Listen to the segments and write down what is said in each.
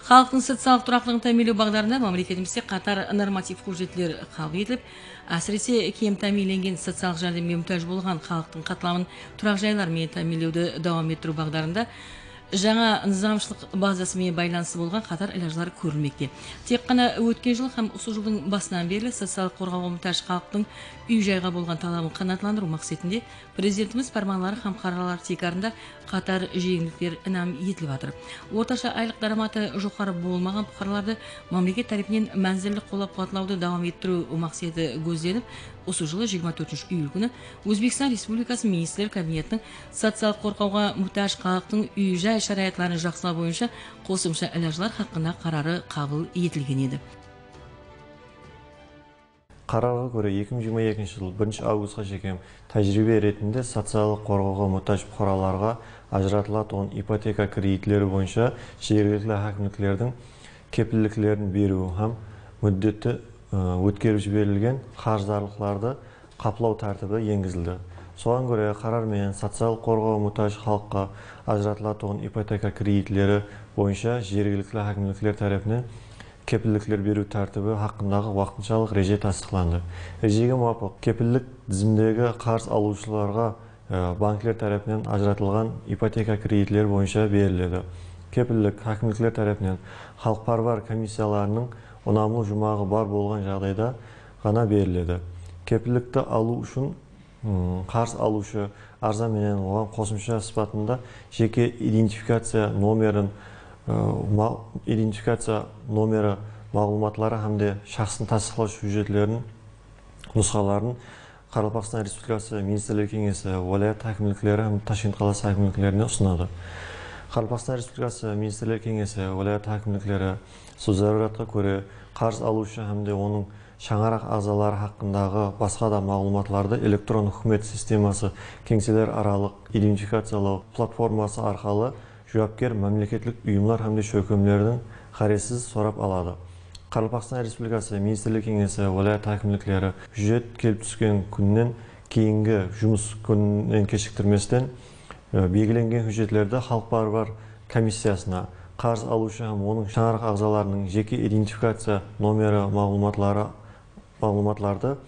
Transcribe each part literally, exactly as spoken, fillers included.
Xalıqtıń sociallıq turaqlılıǵın támiyinlew baǵdarında mámleketimizde qatar normativ hújjetler qabıl etilip, ásirese, kem támiyinlengen, sociallıq járdemge mútáj bolǵan xalıqtıń qatlamın turaq jaylar menen támiyinlewdi dawam ettiriw baǵdarında jańa nızamshılıq bazası menen baylanıslı bolǵan qatar ilajlar kórilmekte. Tek ǵana ótken jıl hám usı jıldıń basınan berli sociallıq qorǵawǵa mútáj xalıqtıń úy-jayǵa bolǵan talabın qanaatlandırıw maqsetinde Prezidentimiz pármanları hám qararları tiykarında qatar jeńillikler inam etilip atır. Ortasha aylıq dáramatı joqarı bolmaǵan puqaralardı mámleket tárepinen mánzilli qollap-quwatlawdı dawam ettiriw maqseti gózlenip, usı jılı jigirma tórtinshi iyul kúni Ózbekstan Respublikası Ministrler Kabinetiniń sociallıq qorǵawǵa mútáj xalıqtıń úy-jay sharayatların jaqsılaw boyınsha qosımsha ilajlar haqqında qararı qabıl etilgen edi. Qararǵa kóre, eki mıń jigirma ekinshi jıl birinshi avgustqa shekem tájiriybe retinde sociallıq qorǵawǵa mútáj puqaralarǵa ajıratılatuǵın ipoteka kreditleri boyınsha jergilikli hákimliklerdiń kepilliklerin beriw hám múddeti, ı, ótkerip jiberilgen qarızdarlıqlardı qaplaw tártibi engizildi. Soǵan kóre, qarar menen sociallıq qorǵawǵa mútáj xalıqqa ajıratılatuǵın ipoteka kreditleri boyınsha jergilikli hákimlikler tárepinen kepillikler beriw tártibi haqqındaǵı waqtınshalıq reje tastıyıqlandı. Rejege muwapıq, kepillik dizimdegi qarız alıwshılarǵa, e, bankler tárepinen ajıratılǵan ipoteka kreditleri boyınsha beriledi. Kepillik hákimlikler tárepinen xalıqpárwar komissiyalarınıń unamlı juwmaǵı bar bolǵan jaǵdayda ǵana beriledi. Kepillikti alıw ushın Hmm, qarız alıwshı arza menen oǵan qosımsha sıpatında jeke identifikaciya nomerin, ı, ma-, identifikaciya nomeri maǵlıwmatları hám de shaxsın tastıyıqlawshı hújjetlerin nusqaların Qaraqalpaqstan Respublikası Ministrler Keńesi, wálayat hákimlikleri hám Tashkent qalası hákimliklerine usınadı. Qaraqalpaqstan Respublikası Ministrler Keńesi, wálayat hákimlikleri, sol zaruratqa kóre, qarız alıwshı hám de onıń shańaraq aǵzaları haqqındaǵı basqa da maǵlıwmatlardı elektron húkimet sisteması keńseler aralıq identifikaciyalaw platforması arqalı juwapker mámleketlik uyımlar hám de shólkemlerdiń ǵárezsiz sorap aladı. Qaraqalpaqstan Respublikası Ministrler Keńesi, wálayat hákimlikleri hújjet kelip túsken kúnnen keyingi jumıs kúnin keshiktirmesten, e, belgilengen hújjetlerdi xalıqpárwar komissiyasına, qarız alıwshı hám onıń shańaraq aǵzalarınıń jeke identifikaciya nomeri maǵlıwmatları, maǵlıwmatlardı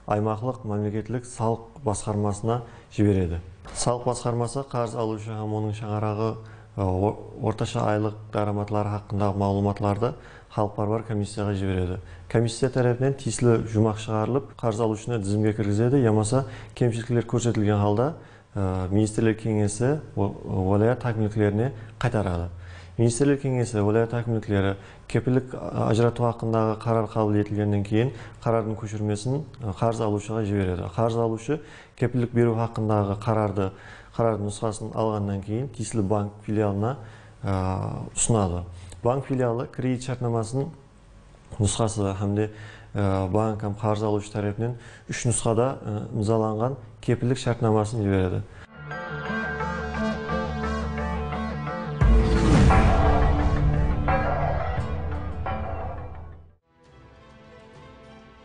aymaqlıq mámleketlik salıq basqarmasına jiberedi. Salıq basqarması qarız alıwshı hám onıń shańaraǵı, e, o-, ortasha aylıq dáramatları haqqındaǵı maǵlıwmatlardı xalıqpárwar komissiyaǵa jiberedi. Komissiya tárepinen tiyisli juwmaq shıǵarılıp, qarız alıwshını dizimge kirgizedi yamasa kemshilikler kórsetilgen halda, e, Ministrler Keńesi wa-, wálayat hákimliklerine qaytaradı. Ministrler Keńesi wálayat hákimlikleri kepillik ajıratıw haqqındaǵı qarar qabıl etilgennen keyin qarardıń kóshirmesin, e, qarız alıwshıǵa jiberedi. Qarız alıwshı kepillik beriw haqqındaǵı qarardı, qarardıń nusqasın alǵannan keyin tiyisli bank filialına, e, usınadı. Bank filialı kredit shártnamasın nusqası hám de, e, bank hám qarız alıwshı tárepinen úsh nusqada, e, imzalanǵan kepillik shártnamasın jiberedi.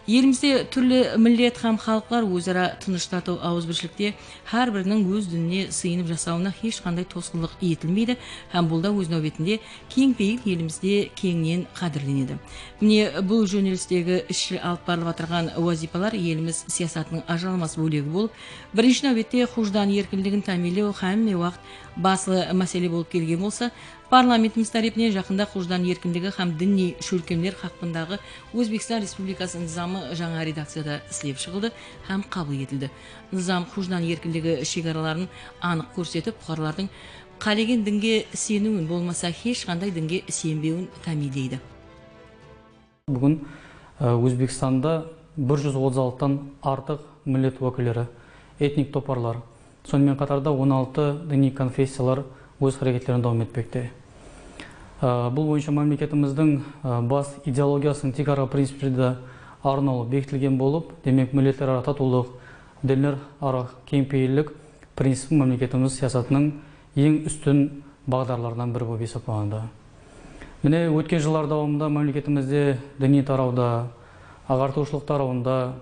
Elimizde túrli millet hám xalıqlar óz-ara tınısh, tatıw, awızbirshilikte hár biriniń óz dinine sıyınıp jasawına hesh qanday tosqınlıq etilmeydi hám bul da óz náwbetinde keń peyil elimizde keńnen qádirlenedi. Mine, bul jónelistegi izshil alıp barılıp atırǵan wazıypalar elimiz siyasatınıń ajıralmas bólegi bolıp, birinshi náwbette xujdan erkinligin támiyinlew hámme waqıt baslı másele bolıp kelgen bolsa, parlamentimiz tárepinen jaqında xujdan erkinligi hám diniy shólkemler haqqındaǵı Ózbekstan Respublikası nızamı jańa redakciyada islep shıǵıldı hám qabıl etildi. Nızam xujdan erkinligi shegaraların anıq kórsetip, puqaralardıń qálegen dinge iseniwin bolmasa hesh qanday dinge isenbewin támiyinleydi. Búgin, e, Ózbekstanda bir júz otız altıdan artıq millet wákilleri, etnik toparlar, sonıń menen qatarda on altı diniy konfessiyalar óz háreketlerin dawam etpekte. E, bul boyınsha mámleketimizdiń, e, bas ideologiyasınıń tiykarǵı principleri de arnawlı bekitilgen bolıp, demek, milletler ara tatıwlıq, dinler ara keńpeyillik principi mámleketimiz siyasatınıń eń ústin baǵdarlarınan biri bolıp esaplanadı. Mine, ótken jıllar dawamında mámleketimizde diniy tarawda, aǵartıwshılıq tarawında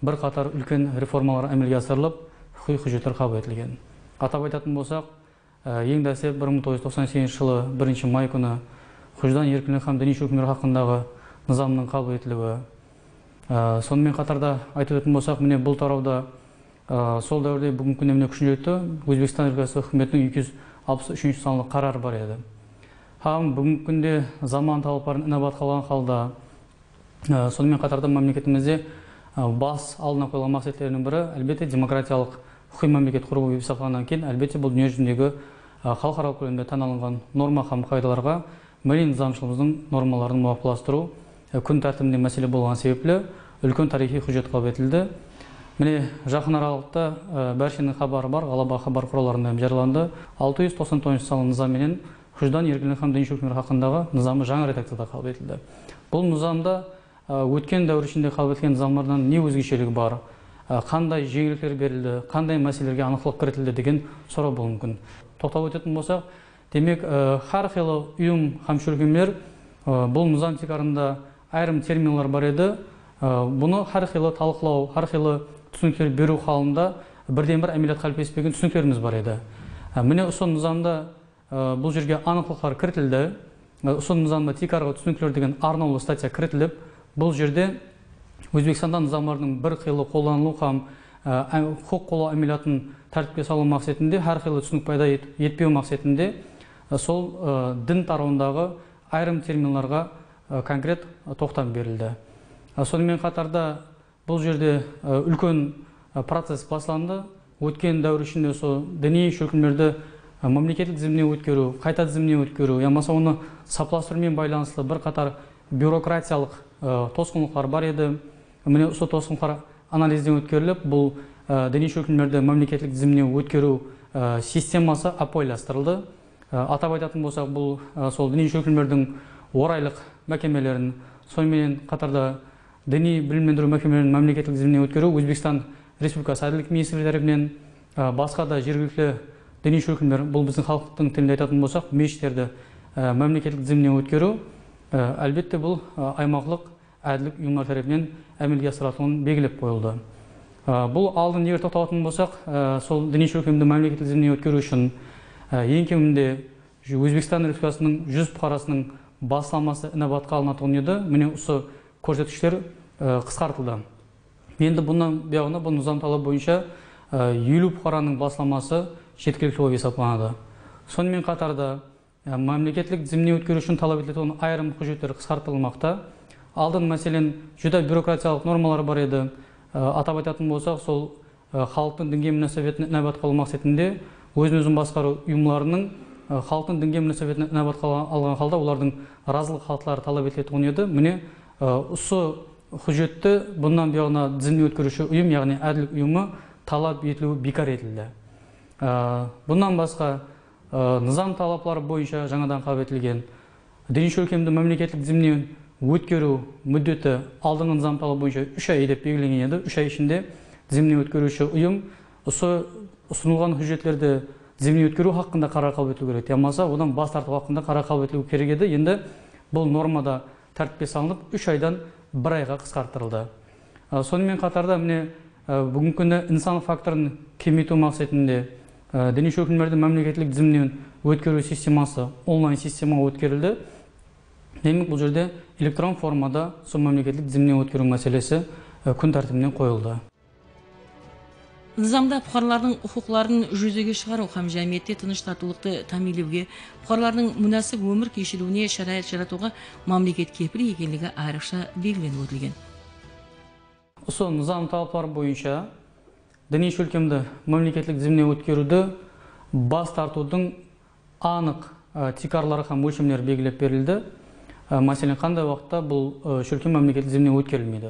bir qatar úlken reformalar ámelge asırılıp, huqıqıy hújjetler qabıl etilgen. Atap aytatın bolsaq, e, eń dáslep bir mıń toǵız júz toqsan segizinshi jılı birinshi may kúni hújdan erkinligi hám diniy shólkemler haqqındaǵı nızamnıń qabıl etiliwi. Á, sonımen qatarda aytıp ótetin bolsaq, mine, bul tarawda, á, sol dáwirde búgingi kúnde mine kúshine jetti Ózbekstan Respublikası húkimetiniń eki júz alpıs úshinshi sanlı qararı bar edi. Hám búgingi kúnde zaman talapların inabatqa alǵan halda, Á, sonımen qatarda mámleketimizde, á, bas aldına qoyılǵan maqsetleriniń biri, álbette, demokratiyalıq húkiy mámleket qurıw bolıp esaplanaǵannan keyin, álbette, bul dúnya júzindegi, á, xalıqaralıq kólemde tán alınǵan norma hám qaydalarǵa milliy nızamshılımızdıń normalarınıń muwapıqlastırıw, á, kún tártibinde másele bolǵanı sebepli úlken tariyxıy hújjet qabıl etildi. Mine, jaqın aralıqta, á, bársheniń xabarı bar, ǵalaba xabar qurallarında hám jarıyalandı. Altı júz toqsan toǵızınshı sanlı nızam menen hújdan erkinligi hám diniy shólkemler haqqındaǵı nızamı jańa redakciyada qabıl etildi. Bul nızamda, á, ótken dáwir ishinde qabıl etilgen nızamlardan ne ózgesheligi bar? Á, qanday jeńillikler berildi? Qanday máselelerge anıqlıq kiritildi degen soraw bolıwı múmkin. Toqtap ótetin bolsaq, demek, á, hár qıylı uyım hám shólkemler, á, bul nızam tiykarında ayırım terminler bar edi. Á, bunı hár qıylı talıqlaw, hár qıylı túsinikler beriw halında birden-bir ámeliyat qáliplespegen túsiniklerimiz bar edi. Á, mine, usı nızamda Á, bul jerge anıqlıqlar kiritildi. Á, usı nızamda tiykarǵı túsinikler degen arnawlı statya kiritilip, bul jerde Ózbekstanda nızamlardıń bir qıylı qollanılıw hám, á, á, huqıq qorlaw ámeliyatın tártipke salıw maqsetinde, hár qıylı túsinik payda et-, etpew maqsetinde, á, sol, á, din tarawındaǵı ayırım terminlarǵa, á, konkret, á, toqtam berildi. Á, sonımen qatarda, Bul jerde, e, úlken, e, process baslandı. Ótken dáwir ishinde usı diniy shólkemlerdi, e, mámleketlik dizimine ótkeriw, qayta dizimine ótkeriw yamasa onı saplastırıw menen baylanıslı bir qatar byurokratiyalıq, e, tosqınlıqlar bar edi. Mine, usı tosqınlıqlar analizden ótkerilip, bul, e, diniy shólkemlerdi mámleketlik dizimine ótkeriw, e, sisteması ápiwayılastırıldı. Á, atap aytatın bolsaq, bul, á, sol diniy shólkemlerdiń oraylıq mákemelerin, sonıń menen qatarda diniy bilimlendiriw mákemelerin mámleketlik dizimine ótkeriw Ózbekstan Respublikası Ádillik ministrligi tárepinen, á, basqa da jergilikli diniy shólkemler, bul biziń xalıqtıń tilinde aytatın bolsaq, meshitlerdi, á, mámleketlik dizimine ótkeriw, á, álbette, bul, á, aymaqlıq ádillik uyımları tárepinen ámelge asırılatuǵını belgilep qoyıldı. Á, bul aldın eger toqtalatuǵın bolsaq, á, sol diniy shólkemdi mámleketlik dizimine ótkeriw ushın, á, eń keminde Ózbekstan Respublikasınıń júz puqarasınıń baslaması inabatqa alınatuǵın edi. Mine, usı kórsetkishler, á, qısqartıldı. Endi bunnan buyaǵına bul nızam talabı boyınsha, á, eliw puqaranıń baslaması jetikilikli bolıp esaplanadı. Sonımen qatarda, Á, mámleketlik dizimine ótkeriw ushın talap etiletuǵın ayırım hújjetler qısqartılmaqta. Aldın, máselen, júdá byurokratiyalıq normalar bar edi. Á, atap aytatın bolsaq, sol, á, xalıqtıń dinge múnásibetine inabatqa alıw maqsetinde ózin-ózi basqarıw uyımlarınıń, á, xalıqtıń dinge múnásibetine inabatqa al-, alǵan halda olardıń razılıq xatları talap etiletuǵın edi. Mine, á, usı hújjetti bunnan buyaǵına dizimine ótkeriwshi uyım, yaǵnıy ádillik uyımı talap etiliwi biykar etildi. Á, bunnan basqa, Á, nızam talapları boyınsha jańadan qabıl etilgen diniy shólkemdi mámleketlik dizimine ótkeriw múddeti aldınǵı nızam talabı boyınsha úsh ay dep belgilengen edi. Úsh ay ishinde dizimine ótkeriwshi uyım usı usınılǵan hújjetlerdi dizimine ótkeriw haqqında qarar qabıl etiliw kerek edi. Yamasa odan bas tartıw haqqında qarar qabıl etiliw kerek edi. Endi bul normada tártipke salınıp, úsh aydan bir ayǵa qısqarttırıldı. Á, sonımen qatarda, mine, á, búgingi kúni insan faktorın kemeytiw maqsetinde, á, diniy shólkemlerdi mámleketlik diziminen ótkeriw sisteması onlayn sistemaǵa ótkerildi. Demek, bul jerde elektron formada sol mámleketlik diziminen ótkeriw máselesi, á, kún tártibine qoyıldı. Nızamda puqaralardıń huqıqların júzege shıǵarıw hám jámiyette tınısh-tatlıqtı támiyinlewge, puqaralardıń múnásip ómir keshiriwine sharayat jaratıwǵa mámleket kepilik ekenligi ayrıqsha belgilenip ótilgen. Usı nızam talapları boyınsha diniy shólkemdi mámleketlik dizimine ótkeriwdi bas tartıwdıń anıq, ı, tiykarları hám ólshemleri belgilep berildi. I, máselen, qanday waqıtta bul, ı, shólkem mámleketlik dizimine ótkerilmeydi?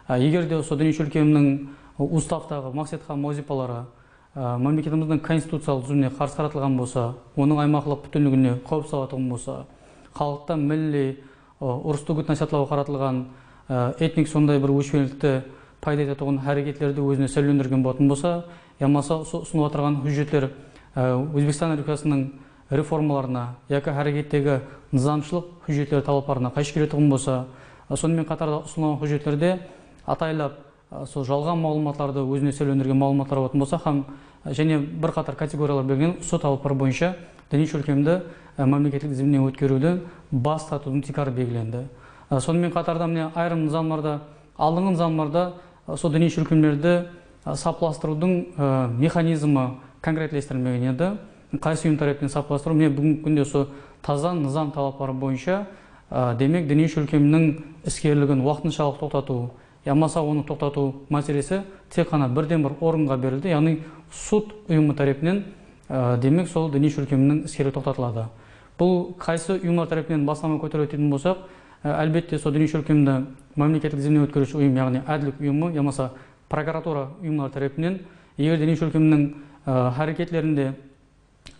I, eger de usı diniy shólkemniń, ı, ustavtaǵı maqset hám wazıypaları, ı, mámleketimizdiń konstituciyalıq dúzimine qarsı qaratılǵan bolsa, onıń aymaqlıq pútinligine qáwip salatuǵın bolsa, xalıqta milliy, ı, urıstı úgit-násiyatlaw qaratılǵan, ı, etnik sonday bir óshpeslikti payda etetuǵın háreketlerdi ózine sáwlelendirgen bolatuǵın bolsa, yamasa usı usınıp atırǵan hújjetler, ı, Ózbekstan Respublikasınıń reformalarına yaki hárekettegi nızamshılıq hújjetleri talaplarına qayshı keletuǵın bolsa, ı, sonımen qatarda usınılǵan hújjetlerde ataylap, ı, sol jalǵan maǵlıwmatlardı ózine sáwlelendirgen maǵlıwmatlar bolatuǵın bolsa hám, ı, jáne bir qatar kategoriyalar belgilengen usı talaplar boyınsha diniy shólkemdi, e, mámleketlik dizimnen ótkeriwden bas tartıwdıń tiykarı belgilendi. E, sonıń menen qatarda, mine, ayırım nızamlarda, aldınǵı nızamlarda, e, sol diniy shólkemlerdi, e, saplastırıwdıń, e, mexanizmi konkretlestirilmegen edi. Qaysı uyım tárepinen saplastırıw? Mine, búgingi kúnde usı taza nızam talapları boyınsha, e, demek, diniy shólkemniń iskerligin waqtınshalıq toqtatıw, yamasa onı toqtatıw máselesi tek ǵana birden-bir organǵa berildi, yaǵnıy sud uyımı tárepinen, e, demek, sol diniy shólkemniń iskerligi toqtatıladı. Bul qaysı uyımlar tárepinen baslama kóteriledi deytuǵın bolsaq, e, álbette, sol diniy shólkemdi mámleketlik dizimnen ótkeriwshi uyım, yaǵnıy ádillik uyımı yamasa prokuratura uyımları tárepinen, eger diniy shólkemniń, e, háreketlerinde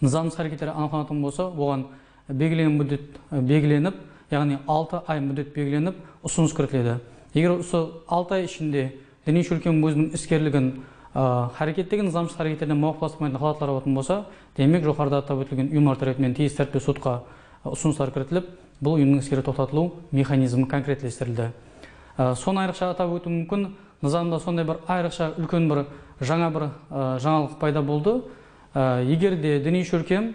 nızamsız háreketleri anıqlanatuǵın bolsa, oǵan belgilengen múddet, e, belgilenip, yaǵnıy altı ay múddet belgilenip, usınıs kiritiledi. Eger usı altı ay ishinde diniy shólkem óziniń iskerligin, e, hárekettegi nızamsız háreketlerden mawafıqlastırmaytuǵın halatlar bolatuǵın bolsa, demek, joqarıda atap ótilgen uyımlar tárepinen tiyisli tártipte sudqa, e, usınıslar kiritilip, bul uyımnıń iskeri toqtatılıw mexanizmi konkretlestirildi. E, sonı ayrıqsha atap ótiw múmkin, nızamda sonday bir ayrıqsha úlken bir jańa bir, e, jańalıq payda boldı. E, eger de diniy shólkem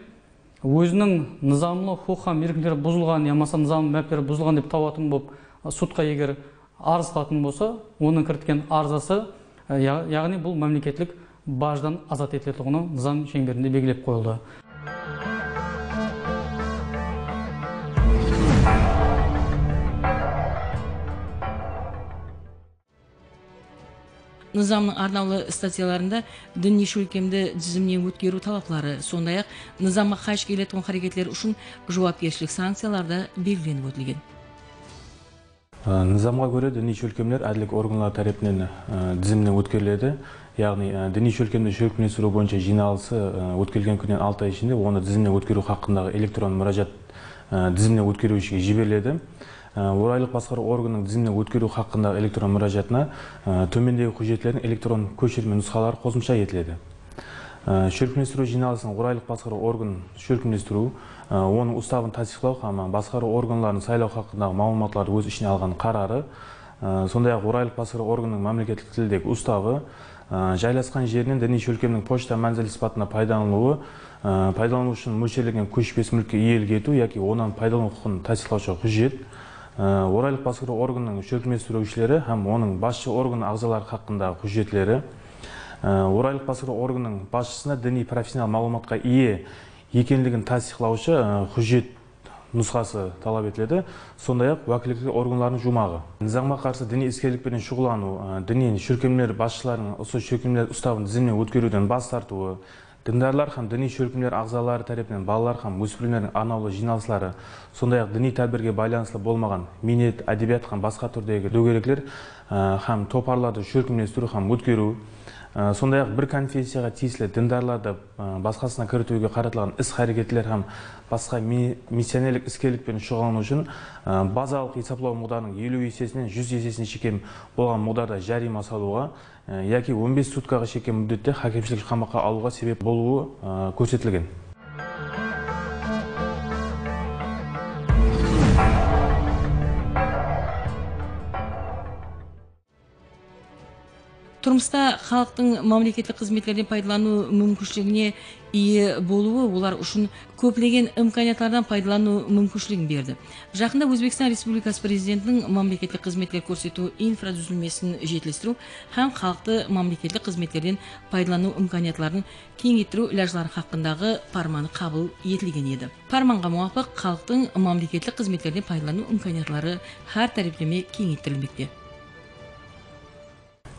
óziniń nızamlı huqıq hám erkinlikleri buzılǵan yamasa nızamlı mártepleri buzılǵan dep tawatın bolıp, e, sudqa eger arız qılatuǵın bolsa, onıń kiritken arzası, e, ya-, yaǵnıy bul mámleketlik bajdan azat etiletuǵını nızam sheńberinde belgilep qoyıldı. Nızamnıń arnawlı statyalarında diniy shólkemdi dizimnen ótkeriw talapları, sonday-aq, nızamǵa qayshı keletuǵın háreketler ushın juwapkershilik sankciyaları da belgilenip ótilgen. Á, nızamǵa kóre, diniy shólkemler ádillik organları tárepinen, á, dizimnen ótkeriledi. Yaǵnıy, á, diniy shólkemdi shólkemlestiriw boyınsha jıynalısı, á, ótkerilgen kúnnen altı ay ishinde onı dizimnen ótkeriw haqqındaǵı elektron múrájat, á, dizimnen ótkeriwshige jiberiledi. Á, oraylıq basqarıw organınıń dizimnen ótkeriw haqqındaǵı elektron múrájatına, á, tómendegi hújjetlerdiń elektron kóshirme nusqaları qosımsha etiledi. Á, shólkemlestiriw jıynalısın oraylıq basqarıw organın shólkemlestiriw, á, onıń ustavın tastıyıqlaw hám basqarıw organların saylaw haqqındaǵı maǵlıwmatlardı óz ishine alǵan qararı, á, sonday-aq, oraylıq basqarıw organınıń mámleketlik tildegi ustavı, á, jaylasqan jerinen diniy shólkemniń pochta mánzili sıpatında paydalanılıwı, á, paydalanıw ushın mólsherlengen kóshpes múlkke iyelik etiw yaki onnan paydalanıw huqıqın tastıyıqlawshı hújjet, á, oraylıq basqarıw organınıń shólkemlestiriwshileri hám onıń basshı organ aǵzaları haqqındaǵı hújjetleri, Á, oraylıq basqarıw organınıń basshısına diniy professional maǵlıwmatqa iye ekenligin tastıyıqlawshı, á, hújjet nusqası talap etiledi, sonday-aq, wákillikli organlardıń juwmaǵı. Nızamǵa qarsı diniy iskerlik penen shuǵıllanıw, á, diniy shólkemler basshılarınıń usı shólkemler ustavın dizimnen ótkeriwden bas tartıwı, dindarlar hám diniy shólkemler aǵzaları tárepinen balalar hám óspirimlerdiń arnawlı jıynalısları, sonday-aq, diniy tádbirge baylanıslı bolmaǵan miynet, ádebiyat hám basqa túrdegi dógerekler, á, hám toparlardı shólkemlestiriw hám ótkeriw, á, sonday-aq, bir konfessiyaǵa tiyisli dindarlardı, á, basqasına kiritiwge qaratılǵan is-háreketler hám basqa mi-, missionerlik iskerlik penen shuǵıllanıw ushın, á, bazalıq esaplaw muǵdarınıń eliw esesinen júz esesine shekem bolǵan muǵdarda járiyma salıwǵa, e, yaki on bes sutkaǵa shekem múddette hákimshilik qamaqqa alıwǵa sebep bolıwı, e, kórsetilgen. Turmısta xalıqtıń mámleketlik xızmetlerden paydalanıw múmkinshiligine iye bolıwı olar ushın kóplegen imkaniyatlardan paydalanıw múmkinshiligin berdi. Jaqında Ózbekstan Respublikası Prezidentiniń mámleketlik xızmetler kórsetiw infradúzilmesin jetilistiriw hám xalıqtı mámleketlik xızmetlerden paydalanıw imkaniyatların keńeyttiriw ilajları haqqındaǵı pármanı qabıl etilgen edi. Pármanǵa muwapıq, xalıqtıń mámleketlik xızmetlerden paydalanıw imkaniyatları hár tárepleme keńeyttirilmekte.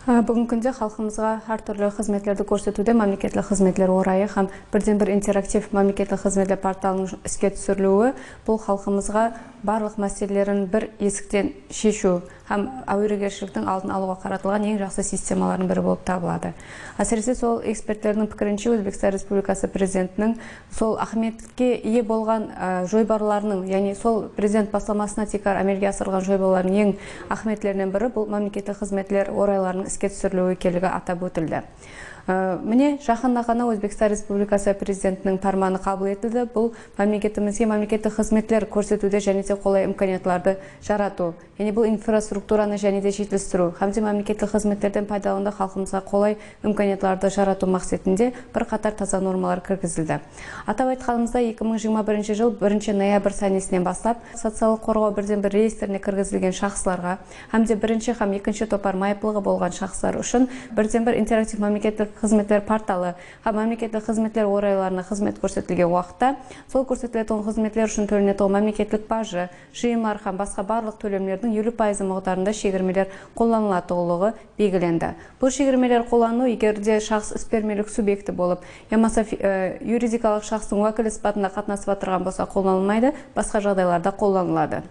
Á, búgingi kúnde xalqımızǵa hár túrli xızmetlerdi kórsetiwde mámleketlik xızmetler orayı hám birden-bir interaktiv mámleketlik xızmetler portalınıń iske túsiriliwi bul xalqımızǵa barlıq máselelerin bir esikten sheshiw hám áweregershiliktiń aldın alıwǵa qaratılǵan eń jaqsı sistemalardıń biri bolıp tabıladı. Ásirese, sol ekspertlerdiń pikirinshe, Ózbekstan Respublikası Prezidentiniń sol áhmiyetke iye bolǵan, á, joybarlarınıń, yaǵnıy sol Prezident baslamasına tiykar ámelge asırılǵan joybarlardıń eń áhmiyetlerinen biri bul mámleketlik xızmetler oraylarınıń iske túsiriliwi ekenligi atap ótildi. Á, mine, jaqında ǵana Ózbekstan Respublikası Prezidentiniń pármanı qabıl etildi. Bul mámleketimizge mámleketlik xızmetler kórsetiwde jáne de qolay imkaniyatlardı jaratıw, yaǵnıy bul infrastrukturanı jáne de jetilistiriw hám de mámleketlik xızmetlerden paydalanıwda xalqımızǵa qolay imkaniyatlardı jaratıw maqsetinde bir qatar taza normalar kirgizildi. Atap aytqanımızda, eki mıń jigirma birinshi jıl birinshi noyabr sánesinen baslap, sociallıq qorǵaw birden-bir reyestrine kirgizilgen shaxslarǵa hám de birinshi hám ekinshi topar mayıplıǵı bolǵan shaxslar ushın birden-bir interaktiv mámleketlik xızmetler portalı hám mámleketlik xızmetler oraylarına xızmet kórsetilgen waqıtta sol kórsetiletuǵın xızmetler ushın tólenetuǵın mámleketlik bajı, jıyımlar hám basqa barlıq tólemlerdiń eliw payızı muǵdarında shegirmeler qollanılatuǵınlıǵı belgilendi. Bul shegirmeler qollanıw, eger de shaxs isbermelik subyekti bolıp yamasa fi-, e, yuridikalıq shaxstıń wákili sıpatında qatnasıp atırǵan bolsa, qollanılmaydı, basqa jaǵdaylarda qollanıladı.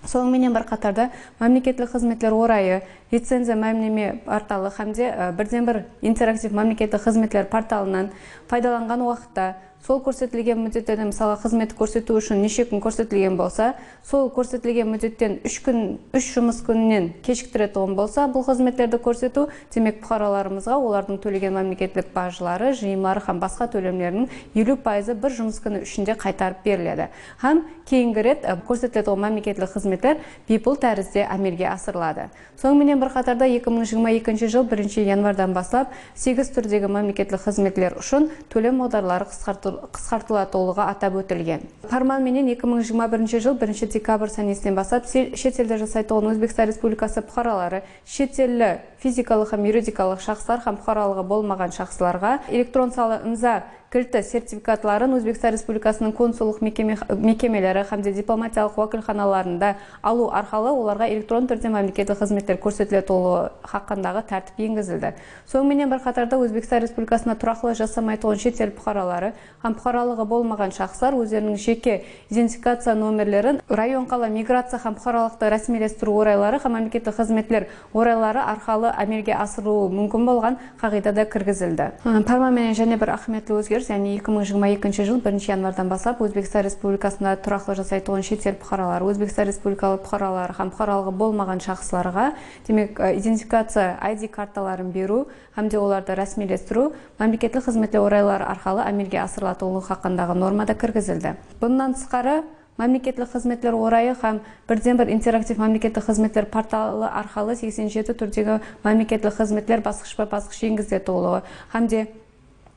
Sonıń menen bir qatarda, mámleketlik xızmetler orayı, licenziya mámleme portalı hám de, e, birden-bir interaktiv mámleketlik xızmetler portalınan paydalanǵan waqıtta, sol kórsetilgen múddette, mısalǵa, xızmet kórsetiw ushın neshe kún kórsetilgen bolsa, sol kórsetilgen múddetten úsh kún, úsh jumıs kúninen keshiktiretuǵın bolsa, bul xızmetlerdi kórsetiw, demek, puqaralarımızǵa olardıń tólegen mámleketlik bajları, jıyımları hám basqa tólemleriniń eliw payızı bir jumıs kúni ishinde qaytarıp beriledi. Hám keyingi ret, e, kórsetiletuǵın mámleketlik xızmetler biypul tárizde ámelge asırıladı. Sonıń menen bir qatarda, eki mıń jigirma ekinshi jıl birinshi yanvardan baslap segiz túrdegi mámleketlik xızmetler ushın tólem muǵdarları qısqartı-, qısqartılatuǵınlıǵı atap ótilgen. Párman menen eki mıń jigirma birinshi jıl birinshi dekabr sánesinen baslap se-, shet elde jasaytuǵın Ózbekstan Respublikası puqaraları, shet elli fizikalıq hám yuridikalıq shaxslar hám puqaralıǵı bolmaǵan shaxslarǵa elektron salı imza kilti sertifikatların Ózbekstan Respublikasınıń konsullıq mekeme-, mekemeleri hám de diplomatiyalıq wákilxanalarında alıw arqalı olarǵa elektron túrde mámleketlik xızmetler kórsetiletuǵınlıǵı haqqındaǵı tártip engizildi. Sonıń menen bir qatarda, Ózbekstan Respublikasında turaqlı jasamaytuǵın shet el puqaraları hám puqaralıǵı bolmaǵan shaxslar ózleriniń jeke identifikaciya nomerlerin rayon, qala migraciya hám puqaralıqtı rásmiylestiriw orayları hám mámleketlik xızmetler orayları arqalı ámelge asırılıwı múmkin bolǵan qaǵıyda da kirgizildi. Párman menen jáne bir áhmiyetli ózgeris, yaǵnıy eki mıń jigirma ekinshi jıl birinshi yanvardan baslap Ózbekstan Respublikasında turaqlı jasaytuǵın shet el puqaraları, Ózbekstan Respublikalı puqaraları hám puqaralıǵı bolmaǵan shaxslarǵa, demek, e, identifikaciya I D kartaların beriw hám de olardı rásmiylestiriw mámleketlik xızmetler orayları arqalı ámelge asırılatuǵınlıǵı haqqındaǵı norma da kirgizildi. Bunnan tısqarı, mámleketlik xızmetler orayı hám birden-bir interaktiv mámleketlik xızmetler portalı arqalı seksen jeti túrdegi mámleketlik xızmetler basqıshpa-basqısh engiziletuǵınlıǵı hám de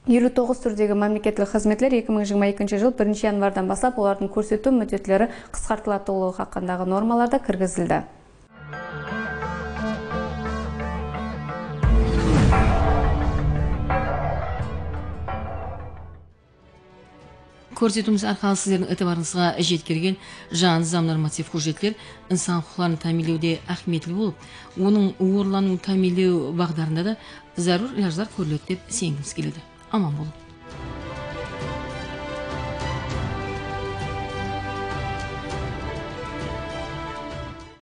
eliw toǵız túrdegi mámleketlik xızmetler eki mıń jigirma ekinshi jıl birinshi yanvardan baslap olardıń kórsetiw múddetleri qısqartılatuǵınlıǵı haqqındaǵı normalar da kirgizildi. Kórsetiwimiz arqalı sizlerdiń itibarıńızǵa jetkergen jańa nızam normativ hújjetler insan huqıqların támiyinlewde áhmiyetli bolıp, onıń orınlanıwın támiyinlew baǵdarında da zárúr ilajlar kóriledi dep isengimiz keledi. Aman bolıń!